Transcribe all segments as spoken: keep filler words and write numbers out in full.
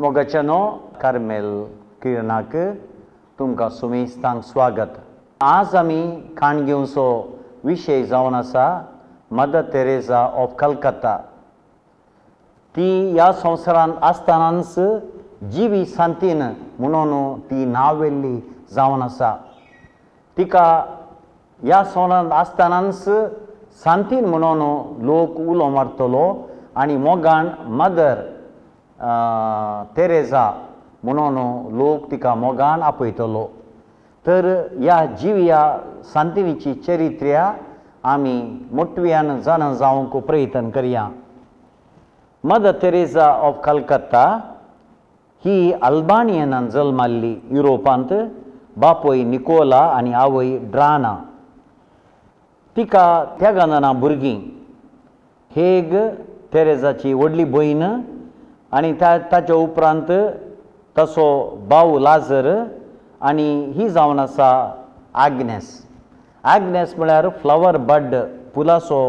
मोगाच्यानो Carmel किरणाक तुमकां सुमेस्तांक स्वागत. आज आमी खाण घेवचो विशय जावन आसा मदर तेरेझा ऑफ कलकत्ता. ती ह्या संवसारांत आसतनाच जिवी सांतीन म्हणून ती नांवेल्ली जावन आसा. तिका ह्या संवसारांत आसतनाच सांतीन म्हणून लोक उलो मारतलो आनी मोगान मदर तेरेझा म्हणून लोक तिका मोगान आपयतलो. तर ह्या जिव्या सांतिनीची चरित्र्या आमी मोटव्यान जाणा जावंक प्रयत्न करया. मदर तेरेझा ऑफ कलकत्ता ही अल्बानियनान जल्माल्ली युरोपांत. बापूय निकोला आनी आवय ड्राना. तिका त्यागाना भुरगीं. हेग तेरेझाची व्हडली भयण आनी ताच्या उपरांत तसो भाव लाजर आनी ही जावन आसा आग्नेस. आग्नेस म्हळ्यार फ्लावर बड, फुलाचो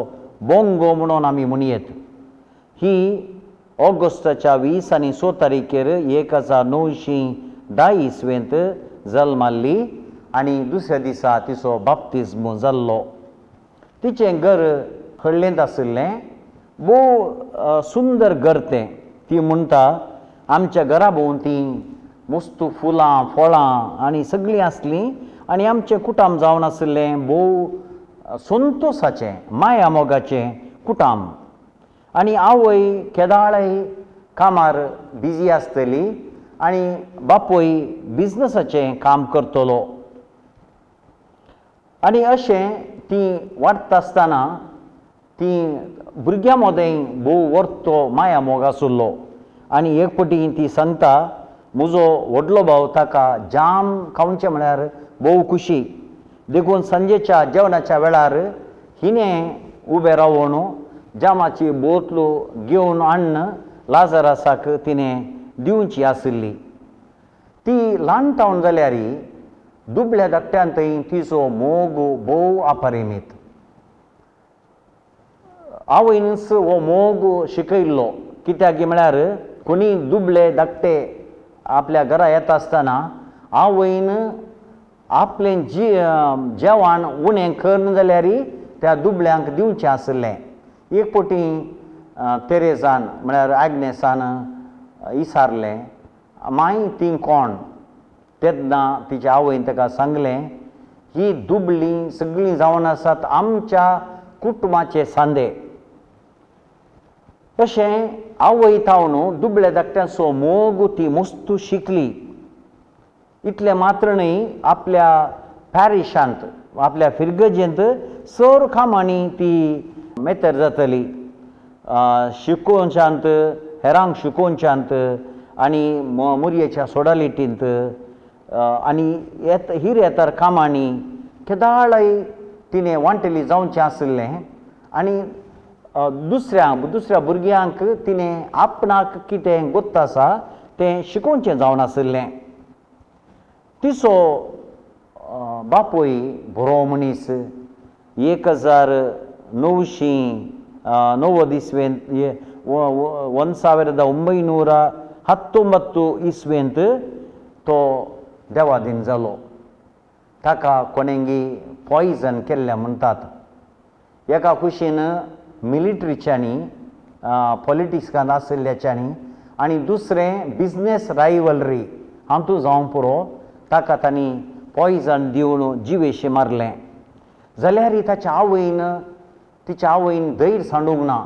बोंगो म्हणून आमी म्हणयेत. ही ऑगस्टाच्या वीस आनी स तारखेर एक हजार णवशीं धा इसवेंत जल्माल्ली आनी दुसऱ्या दिसा तिचो बाप्तिज्म जाल्लो. तिचें घर हळ्ळेंत आशिल्लें. भोव सुंदर घर तें. ती म्हणटा आमच्या घरा भोंवती मस्त फुलां फळां आनी सगळीं आसलीं आनी आमचें कुटाम जावन आशिल्लें भोव संतोसाचें माया मोगाचें कुटाम. आनी आवय केदाळय कामार बिजी आसतली आनी बापूय बिजनसाचें काम करतलो. आनी अशें ती वाडटा आसतना ती भुरग्यां मदें भोव वर्तो माया मोग आशिल्लो. आनी एक पटी ती सांगता म्हजो व्हडलो भाव ताका जाम खावचें म्हळ्यार भोव खुशी, देखून सांजेच्या जेवणाच्या वेळार हिणें उबें रावन जामाची बोतलो घेवन हाडून लाजरासाक तिणें दिवची आशिल्ली. ती ल्हान टावन जाल्यार दुबळ्या धाकट्यान थंय तिचो मोग भोव अपरिमीत. आवयनच हो मोग शिकयल्लो. कित्याक म्हळ्यार कोणी दुबळे धाकटे आपल्या घरा येता आसतना आवयन आपलें जी जेवण उणें करून जाल्यार त्या दुबळ्यांक दिवचें आशिल्लें. एक पटी तेरेझान म्हळ्यार आग्नेसान इसारलें मागीर ती कोण तेन्ना तिच्या आवयन ताका सांगलें ही दुबळीं सगळीं जावन आसात आमच्या कुटुंबाचे सांदे. तशें आवय थावन दुबळ्या धाकट्यांचो मोग ती मस्तू शिकली. इतलें मात्र न्हय आपल्या पॅरिशांत आपल्या फिरगजेंत सर कामांनी ती मेतर जातली. शिकोवच्यांत हेरांक शिकोवच्यांत आनी मुरयेच्या सोडालिटींत आनी येत हिरेतर कामांनी केदाळय तिणें वांटेली जावचें आशिल्लें. आनी दुसऱ्या दुसऱ्या भुरग्यांक तिणें आपणाक कितें गोत्त आसा तें शिकोवचें जावन आशिल्लें. तिचो बापूय बरो मनीस. एक हजार णवशीं णव्वद इसवेंत वन ಸಾವಿರದ ಒಂಬೈನೂರ ಹತ್ತೊಂಬತ್ತು इस्वेंत तो देवादीन जालो. ताका कोणेंगी पॉयजन केल्लें म्हणटात. एका खुशीन मिलिटरीच्यांनी पॉलिटिक्सान आशिल्ल्याच्यांनी आनी दुसरें बिजनेस रायवलरी हातूंत जावंक पुरो ताका तांणी पॉयजन दिवन जिवेशी मारलें. जाल्यार ताच्या आवयन तिच्या आवयन धैर्य सांडूंक ना.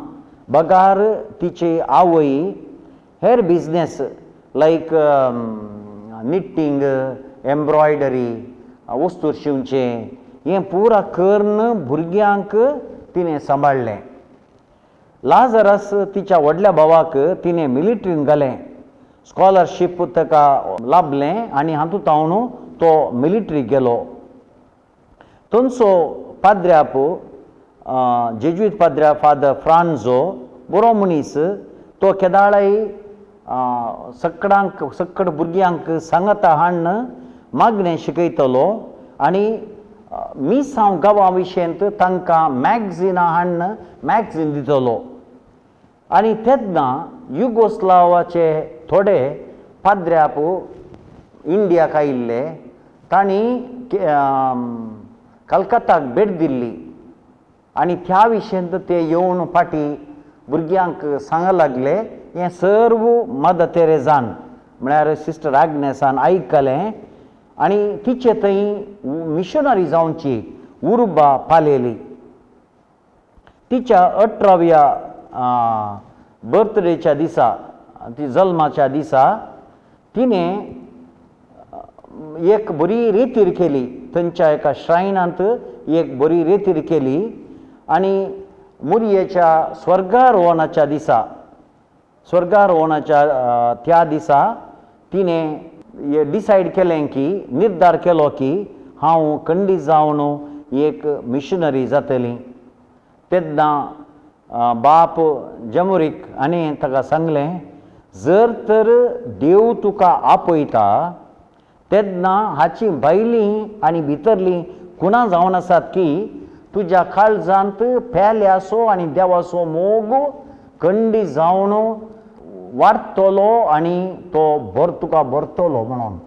बगार तिची आवय हेर बिजनेस लायक निट्टींग एम्ब्रॉयडरी वस्तू शिंवचें हें पुरा करून भुरग्यांक तिणें सांबाळ्ळें. लाजरस तिच्या व्हडल्या भावाक तिणें मिलिटरीन घालें. स्कॉलरशीप ताका लाभलें आनी हातूंत हांव तो मिलिटरी गेलो. थंयचो पाद्र्याप जेजुईत पाद्र्या फादर फ्रांझो बरो मनीस. तो केदाळय सकडांक सकड भुरग्यांक सांगता हाडून मागणें शिकयतलो आनी मिसांव गांवा विशयंत तांकां मॅगझिनां हाडून मॅगझीन दितलो. आनी तेन्ना युगोस्लावाचे थोडे पाद्र्याप इंडियाक आयिल्ले तांणी कलकत्ताक भेट दिल्ली आनी त्या विशयांत ते येवन फाटीं भुरग्यांक सांग लागले हें सर्व मदर तेरेजान म्हळ्यार सिस्टर आग्नेसान आयकलें आनी तिचे थंय मिशनरी जावची उर्बा पालेली. तिच्या अठराव्या बर्थडेच्या दिसा ती जल्माच्या दिसा तिणें एक बरी रेतीर केली थंयच्या एका श्रायनांत एक बरी रेतीर केली आनी मुरयेच्या स्वर्गारोहणाच्या दिसा स्वर्गारोहणाच्या त्या दिसा तिणें डिसायड केलें की निर्धार केलो की हांव खंडीत जावन एक मिशनरी जातली. तेन्ना बाप जमुरीक आनी ताका सांगलें जर तर देव तुका आपयता तेन्ना हाची भायलीं आनी भितरलीं खुणां जावन आसात की तुज्या काळजांत पेल्याचो आनी देवाचो मोग खंडीत जावन वाडटलो आनी तो भर तुका भरतलो म्हणून.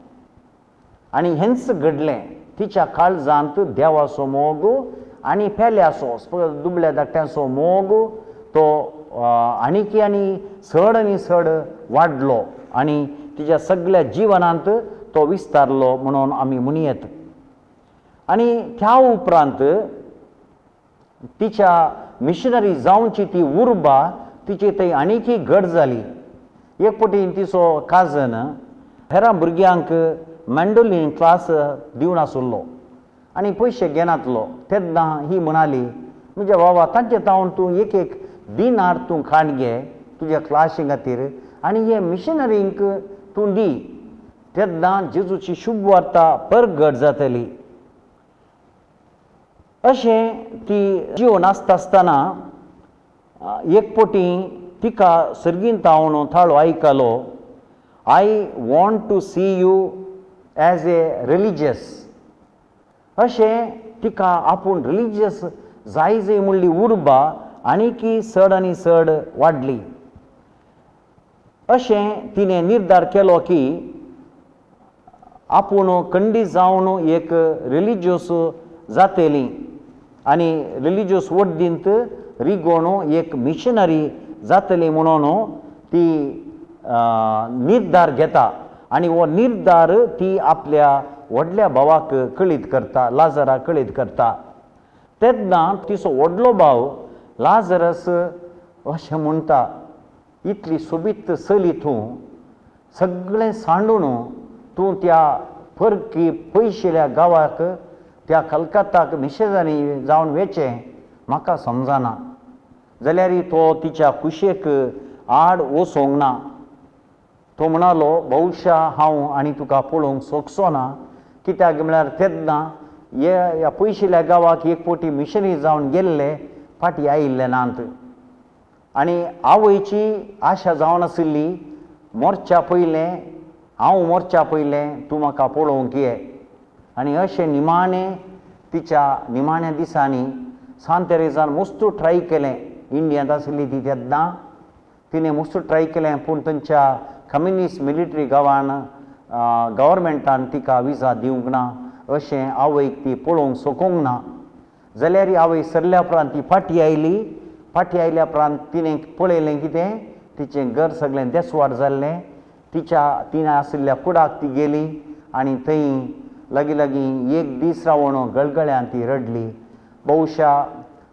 आनी हेंच घडलें तिच्या काळजांत देवाचो मोग आनी पेल्याचो दुबळ्या धाकट्यांचो मोग तो आनीकी आनी चड आनी चड वाडलो आनी तिच्या सगळ्या जिवनांत तो विस्तारलो म्हणून आमी म्हणयेत. आनी त्या उपरांत तिच्या मिशनरी जावची ती उर्बा तिची थंय आनीकी घट जाली. एक पटी तिचो काजन हेरां भुरग्यांक मँडोलीन क्लास दिवन आसलो आनी पयशे घेनातलो. तेन्ना ही म्हणाली म्हणजे बाबा तांचे तावन तूं एक एक दिनार तूं खाण घे तुज्या क्लासी खातीर आनी हे मिशनरींक तूं दी तेन्ना जेजूची शुभ वार्ता परगट जातली. अशें ती जिवन आसता आसतना एक पटी तिका सर्गीन तावन थाळो आयकलो I want to see you as a religious. अशें तिका आपूण रिलिजियस जाय जाय म्हणली उर्बा आनीकी चड आनी चड वाडली. अशें तिणें निर्धार केलो की आपूण खंडीत जावन एक रिलिजियस जातली आनी रिलिजियस वड्डींत रिगोवन एक मिशनरी जातली म्हणून ती निर्धार घेता आनी हो निर्धार ती आपल्या व्हडल्या भावाक कळीत करता लाजराक कळीत करता. तेन्ना तिचो व्हडलो भाव लाजरस अशें म्हणटा इतली सोबीत चली तूं सगळें सांडून तूं त्या परकी पयशिल्या गांवाक त्या कलकत्ताक मिशनरी जावन वेचें म्हाका समजना. जाल्यार तो तिच्या खुशेक आड वचोंक ना. तो म्हणालो बहुशा हांव आनी तुका पळोवंक शकचो ना कित्याक म्हळ्यार तेन्ना ह्या पयशिल्या गांवाक एक फावटी मिशनरी जावन गेल्ले फाटीं आयिल्ले नात आनी आवयची आशा जावन आशिल्ली मोर्च्या पयलें हांव मोर्च्या पयलें तूं म्हाका पळोवंक ये. आनी अशें निमाणें तिच्या निमाण्या दिसांनी सांत तेरेजान मस्त ट्राय केलें इंडियांत आशिल्ली ती तेन्ना तिणें मस्त ट्राय केलें पूण तांच्या कम्युनिस्ट मिलिटरी गांवान गव्हर्मेंटान तिका विजा दिवंक ना अशें आवयक ती पळोवंक शकूंक ना. जाल्यार आवय सरल्या उपरांत ती फाटीं आयली. फाटीं आयल्या उपरांत तिणें पळयलें कितें तिचें घर सगळें देसवाड जाल्लें. तिच्या तिणें आशिल्ल्या कुडाक ती गेली आनी थंय लागीं लागीं एक दीस रावन गळगळ्यान ती रडली. बहुशा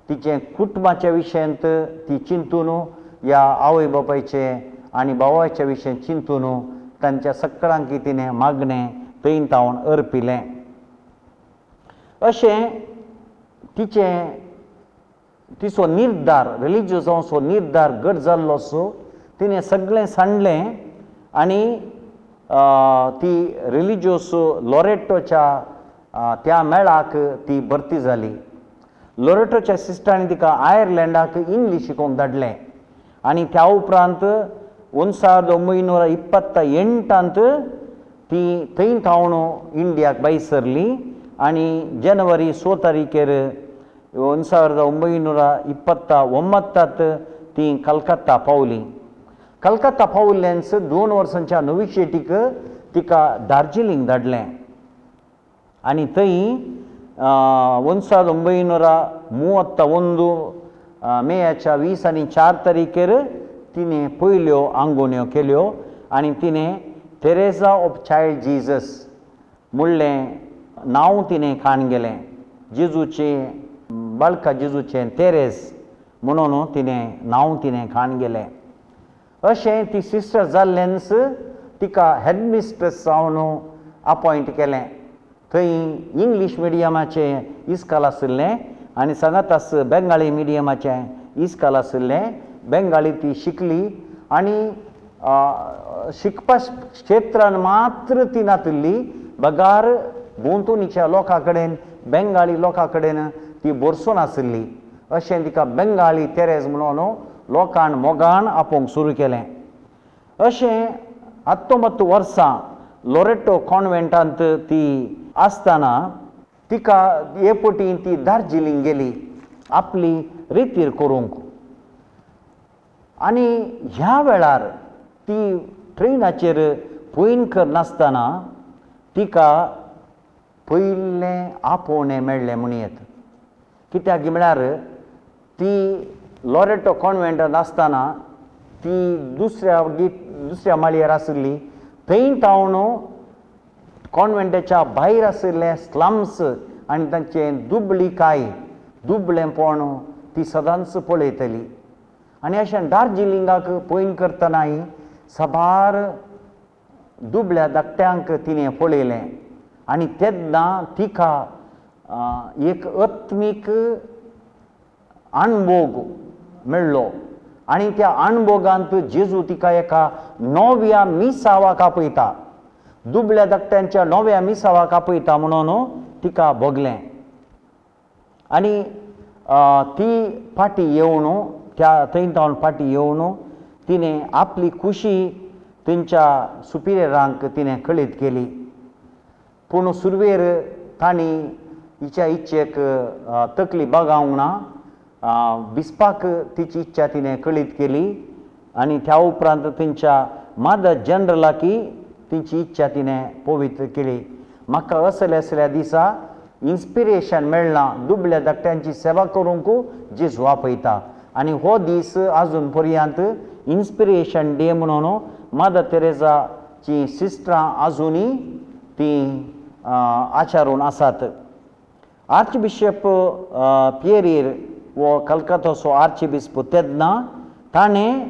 तिचें कुटुंबाच्या विशयांत ती चिंतून ह्या आवय बापायचे आनी भावाच्या विशयांत चिंतून तांच्या सगळ्यांक तिणें मागणें थंय तावन अर्पिलें. अशें तिचें तिचो निर्धार रिलिजियस जावचो निर्धार घट जाल्लो असो तिणें सगळें सांडलें आनी ती रिलिजियस लोरेटोच्या त्या मेळाक ती भरती जाली. लोरेटोच्या सिस्टरांनी तिका आयर्लंडाक इंग्लीश शिकोवंक धाडलें आनी त्या उपरांत ಒಂದು ಸಾವಿರದ ಒಂಬೈನೂರ ಇಪ್ಪತ್ತ ಎಂಟಾंत ती थंय थावन इंडियाक भायर सरली आनी जनवरी स तारीखेर ಒಂದು ಸಾವಿರದ ಒಂಬೈನೂರ ಇಪ್ಪತ್ತ ಒಂಬತ್ತಾत ती कलकत्ता पावली. कलकत्ता पावल्ल्यान्स दोन वर्सांच्या नोविशेटीक तिका दार्जिलिंग धाडलें आनी थंय ಒಂದು ಸಾವಿರದ ಒಂಬೈನೂರ ಮೂವತ್ತ ಒಂದು मेयाच्या वीस आनी चार तारीखेर तिणें पयल्यो आंगोवण्यो केल्यो आनी तिणें तेरेजा ऑफ चायल्ड जीजस म्हणलें नांव तिणें काण गेलें. जेजूचें बाळका जेजूचें तेरेज म्हणून तिणें नांव तिणें काण गेलें. अशें ती सिस्टर जाल्ल्यानच तिका हेडमिस्ट्रेस जावन अपॉयंट केलें. थंय इंग्लीश मिडियमाचें इस्काल आशिल्लें आनी सांगाताच बेंगाळी मिडियमाचें इस्काल आशिल्लें. बेंगाळी ती शिकली आनी शिकपा क्षेत्रान मात्र ती नातिल्ली बगार भोंवतणीच्या लोकां कडेन बेंगाळी लोकां कडेन ती भरसून आशिल्ली. अशें तिका बेंगाळी तेरेज म्हणून लोकान मोगान आपोवंक सुरू केलें. अशें हत्तोंबत्त वर्सां लोरेटो कॉन्वेंटांत ती आसतना तिका हे पटी ती दार्जिलिंग गेली आपली रितीर करूंक. आनी ह्या वेळार ती ट्रेनाचेर पयण करनासतना तिका पयलें आपोवणें मेळ्ळें म्हणयेत. कित्याक म्हळ्यार ती लोरेटो कॉन्वेंटांत आसतना ती दुसऱ्या दुसऱ्या माळयेर आशिल्ली. थंय तावन कॉन्वेंटाच्या भायर आशिल्ले स्लम्स आनी तांचें दुबळीकाय दुबळेंपण ती सदांच पळयतली. आनी अशें दार्जिलिंगाक पयण करतनाय साबार दुबळ्या धाकट्यांक तिणें पळयलें आनी तेन्ना तिका एक आत्मीक अणभोग मेळ्ळो आनी त्या अणभोगांत जेजू तिका एका नव्या मिसावाक आपयता, दुबळ्या धाकट्यांच्या नव्या मिसावाक आपयता म्हणून तिका भोगलें. आनी ती फाटी येवन त्या थंय तावन फाटी येवन तिणें आपली खुशी थंयच्या सुपिरियरांक तिणें कळीत केली. पूण सुरवेर तांणी हिच्या इच्छेक तकली बागावंक ना, बिस्पाक तिची इच्छा तिणें कळीत केली आनी त्या उपरांत थंयच्या मादर जनरलाकी तिची इच्छा तिणें पवित्र केली. म्हाका असल्या असल्या दिसा इन्स्पिरेशन मेळ्ळां दुबळ्या धाकट्यांची सेवा करूंक जेजू आपयता आनी हो दीस आजून पर्यंत इन्स्पिरेशन डे म्हणून मदर तेरेजाची सिस्टरां आजुनूय ती आचारून आसात. आर्चबिशप पियरीर हो कलकत्ताचो आर्चबिस्प तेन्ना ताणें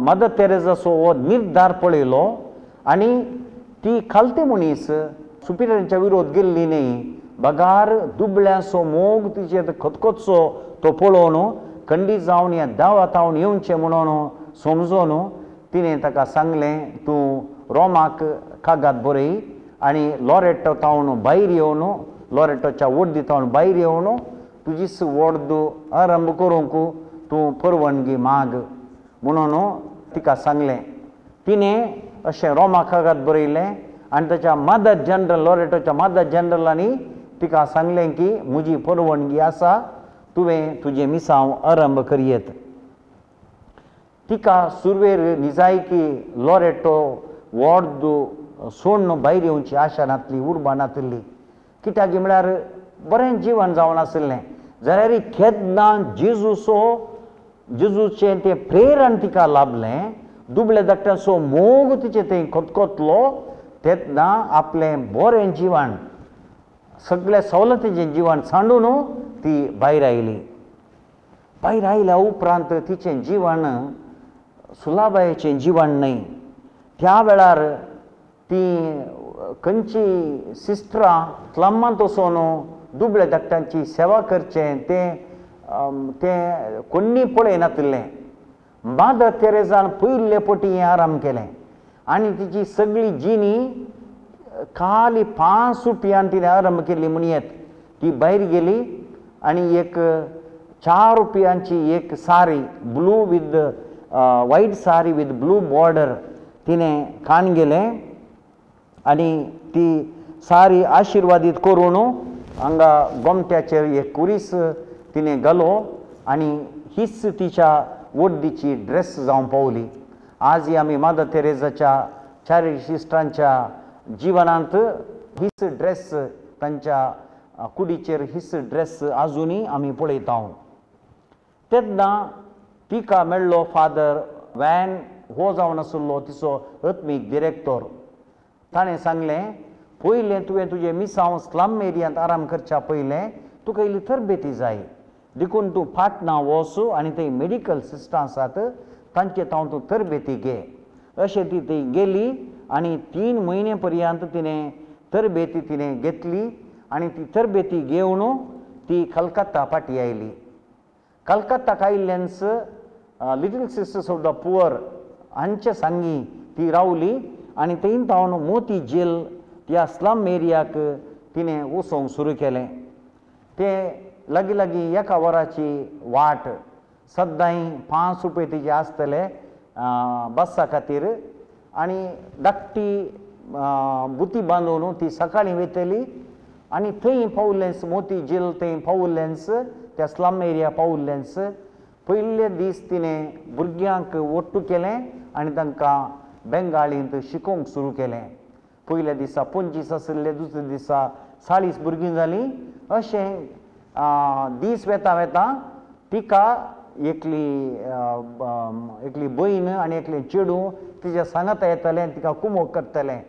मदर तेरेजाचो हो निर्धार पळयलो आनी ती खालती मनीस सुपिरियरांच्या विरोध गेल्ली न्ही, बगार दुबळ्यांचो मोग तिचेर खतखतचो तो पळोवन खंडीत जावन ह्या दावातावन येवचें म्हणून समजून तिणें ताका सांगलें, तूं रोमाक कागाद बरय आनी लोरेटो तावन भायर येवन लोरेटोच्या वड्दी तावन भायर येवन तुजीच वड्द आरंभ करूंक तूं परवानगी माग म्हणून तिका सांगलें. तिणें अशें रोमाक कागाद बरयलें आनी ताच्या मदर जनरल लोरेटोच्या मदर जनरलांनी तिका सांगलें की म्हजी परवानगी आसा, तुवें तुजें मिसांव आरंभ करयेत. तिका सुरवेर निजायकी लोरेटो वॉर्द सोडून भायर येवची आशा नासली, उर्बा नासली. कित्याक म्हळ्यार बरें जिवन जावन आशिल्लें जाल्यार केन्ना जेजूचो जेजूचें तें प्रेरण तिका लाभलें, दुबळे धाकट्यांचो मोग तिचें थंय खतखतलो तेन्ना आपलें बरें जिवन सगळ्या सवलतीचें जिवन सांडून ती भायर आयली. भायर आयल्या उपरांत तिचें जिवन सुलाबायेचें जिवन न्हय. त्या वेळार ती खंयची सिस्टरां स्लमांत वचून दुबळ्या धाकट्यांची सेवा करचें तें तें कोण्णी पळयनातिल्लें. मादर तेरेजान पयले पटी हें आराम केलें आनी तिची सगळी जिणी खाली पांच रुपयान तिणें आरंभ केली म्हणयेत. ती भायर गेली आनी एक चार रुपयांची एक sari blue with white sari with blue border तिणें कान गेलें आनी ती सारी आशिर्वादीत करून हांगा गोमट्याचेर एक कुरीस तिणें घालो आनी हीच तिच्या वड्डीची ड्रेस जावन पावली. आजय आमी मादर तेरेजाच्या चॅरिटी सिस्टरांच्या जिवनांत हीच ड्रेस तांच्या कुडीचेर हीच ड्रेस आजुनूय आमी पळयता. तेन्ना तिका मेळ्ळो फादर वॅन हो जावन आशिल्लो तिचो आत्मीक डिरेक्टर. ताणें सांगलें, पयलें तुवें तुजें मिसांव स्लम एरियांत आराम करच्या पयलें तुका इल्ली तरबेती जाय, देखून तूं पाटणा वच आनी थंय मेडिकल सिस्टरां आसात तांचे तावन तूं तरबेती घे. अशें ती थंय गेली आनी तीन म्हयने पर्यंत तिणें तरबेती तिणें घेतली आनी ती तरबेती घेवन ती कलकत्ता फाटी आयली. कलकत्ताक आयिल्ल्यानच Little Sisters of the Poor हांचे सांगी ती रावली आनी थंय तावन मोती झील त्या स्लम एरियाक तिणें वचोंक सुरू केलें. तें लागीं लागीं एका वराची वाट, सद्दांय पांच रुपये तिजे आसतले बसा खातीर आनी धाकटी बुती बांदून ती सकाळीं वयतली आनी थंय पावलेंच मोती झील थंय पावलेंच त्या स्लम एरिया पावलेंच पयले दीस तिणें भुरग्यांक ओट्टू केलें आनी तांकां बेंगाळींत शिकोवंक सुरू केलें. पयल्या दिसा पंचवीस आशिल्ले, दुसऱ्या दिसा चाळीस भुरगीं जालीं. अशें दीस वेता वेता तिका एकली एकली भयण आनी एकलें चेडूं तिच्या सांगाता येतालें आनी तिका कुमोक करतलें.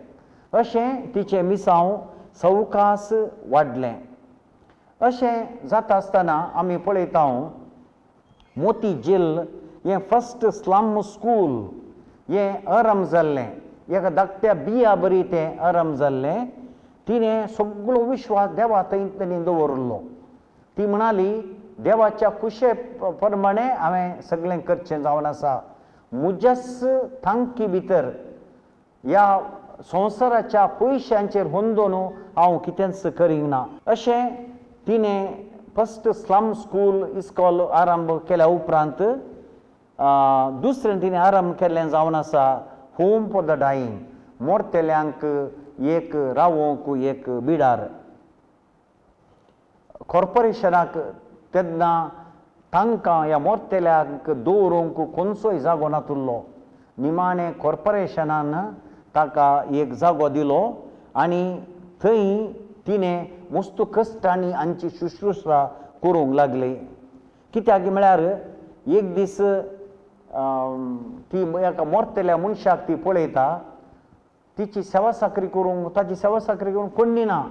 अशें तिचें मिसांव सवकास वाडलें. अशें जाता आसतना आमी पळयता मोती झील हें फस्ट स्लम स्कूल हें आरंभ जाल्लें. एका धाकट्या बिया बरी तें आरंभ जाल्लें. तिणें सगळो विश्वास देवा थंय तिणें दवरिल्लो. ती म्हणाली, देवाच्या खुशे प्रमाणे हांवें सगळें करचें जावन आसा, म्हज्याच तांकी भितर ह्या संवसाराच्या पयशांचेर होंदोन हांव कितेंच करींक ना. अशें तिणें फस्ट स्लम स्कूल इस्कॉल आरंभ केल्या उपरांत दुसरें तिणें आरंभ केल्लें जावन आसा होम फॉर the dying, मोरतेल्यांक एक रावोंक एक बिडार. कॉर्पोरेशनाक तेन्ना तांकां ह्या मोरतेल्यांक दवरूंक खंयचोय जागो नातुल्लो. निमाणें कॉर्पोरेशनान ताका एक जागो दिलो आनी थंय तिणें मस्त कश्टांनी हांची शुश्रूषा करूंक लागली. कित्याक म्हळ्यार एक दीस ती एका मोरतेल्या मनशाक ती पळयता, तिची सेवा साकरी करूंक ताची सेवा साकरी करूंक कोण्णी ना.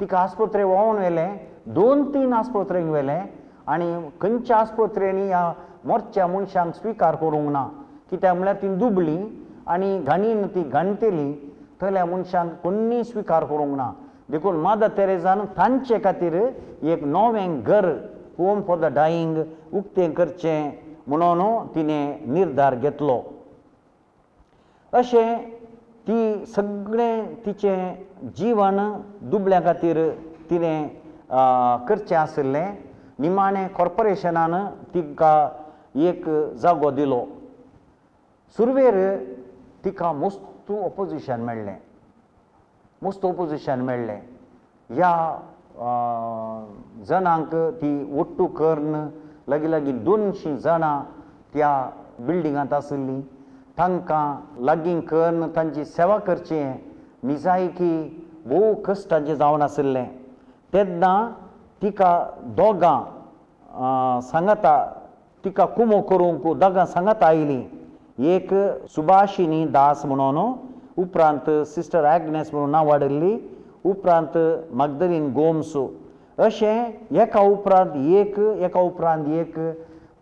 तिका आस्पत्रे व्होवन व्हेलें, दोन तीन आस्पत्रेंक व्हेलें आनी खंयच्या आस्पत्रेंनी ह्या मोरच्या मनशांक स्विकार करूंक ना. कित्याक म्हळ्यार ती दुबळी आनी घाणीन ती घाणटेली, थंयल्या मनशांक कोण्णी स्विकार करूंक ना. देखून मादर तेरेजान तांचे खातीर एक नवें घर होम फॉर the dying उक्तें करचें म्हणून तिणें निर्धार घेतलो. अशें ती सगळें तिचें जीवन दुबळ्या खातीर तिणें करचें आशिल्लें. निमाणें कॉर्पोरेशनान तिका एक जागो दिलो. सुरवेर तिका मस्त ऑपोजिशन मेळ्ळें, मस्त ऑपोजिशन मेळ्ळें. ह्या जणांक ती ओट्टू करून लागीं लागीं दोनशीं जाणां त्या बिल्डिंगांत आशिल्लीं. तांकां लागीं करून तांची सेवा करची निजायकी भोव कश्टांचें जावन आशिल्लें. तेन्ना तिका दोगां सांगाता तिका कुमो करूंक दोगां सांगाता आयलीं. एक सुभाशिनी दास म्हणून, उपरांत सिस्टर एग्नेस म्हणून नांव वाडयल्ली, उपरांत मागदलीन गोम्स. अशें एका उपरांत एक एका उपरांत एक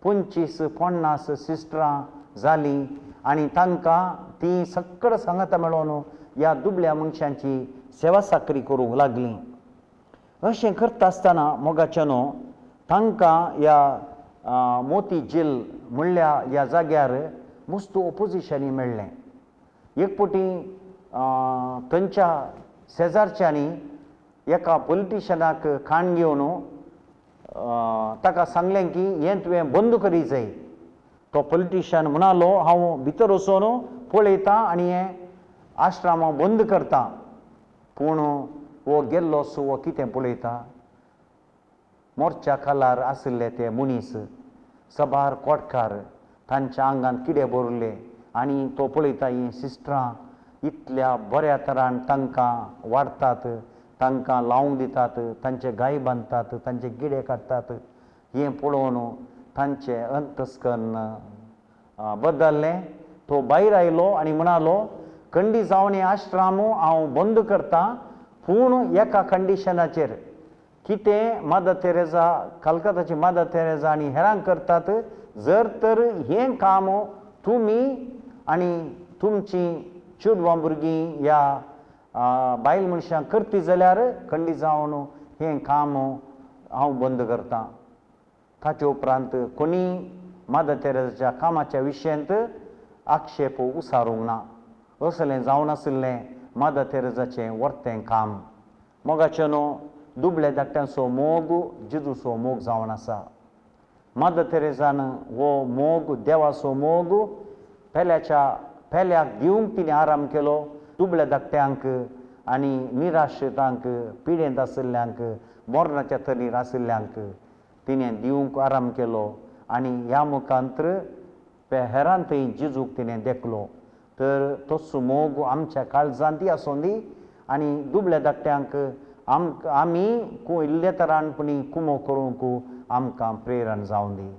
पंचवीस पन्नास सिस्टरां जालीं आनी तांकां तीं सगळं सांगाता मेळोवन ह्या दुबळ्या मनशांची सेवा साकरी करूंक लागलीं. अशें करता आसतना मोगाच्यानो तांकां ह्या मोती झील म्हणल्या ह्या जाग्यार मस्त ओपोजिशनूय मेळ्ळें. एक फावटी थंयच्या शेजारच्यांनी एका पॉलिटिशनाक खाण घेवन ताका सांगलें की हें तुवें बंद करी जाय. तो पॉलिटिशन म्हणालो, हांव भितर वचून पळयतां आनी हें आश्रम हांव बंद करता. पूण हो गेल्लो सो हो कितें पळयता, मोर्च्या खालार आशिल्ले ते मनीस सबार कोटकार, तांच्या आंगान किडे भरिल्ले आनी तो पळयता हीं सिस्टरां इतल्या बऱ्या तरान तांकां वाडटात, तांकां लावंक दितात, तांचे गाय बांदतात, तांचे गिडे काडटात. हें पळोवन तांचें अंतस्कर्ण बदल्लें. तो भायर आयलो आनी म्हणालो, कंडी जावन हें आश्राम हांव बंद करतां, पूण एका कंडिशनाचेर. कितें मदर तेरेजा, कलकत्ताची मदर तेरेजा आनी हेरांक करतात, जर तर हें काम तुमी आनी तुमची चेडवां भुरगीं ह्या बायल मनशां करती जाल्यार कंडी जावन हें काम हांव बंद करतां. ताचे उपरांत कोणी मदर तेरेजाच्या कामाच्या विशयांत आक्षेप उसारूंक ना. असलें जावन आशिल्लें मदर तेरेजाचें वर्तें काम. मोगाचें न्हू दुबळे धाकट्यांचो मोग जेजूचो मोग जावन आसा. मदर तेरेजान हो मोग, देवाचो मोग पेल्याच्या पेल्याक दिवंक तिणें आराम केलो. दुबळ्या धाकट्यांक आनी निराश्रितांक, पिडेंत आशिल्ल्यांक, मरणाच्या तरणीर आशिल्ल्यांक तिणें दिवंक आराम केलो आनी ह्या मुखांत्र हेरान थंय जेजूक तिणें देखलो. तर तोच मोग आमच्या काळजांतय आसूं दी आनी दुबळ्या धाकट्यांक आम आमी इल्ले तरान पुणी कुमो करूंक आमकां प्रेरण जावं दी.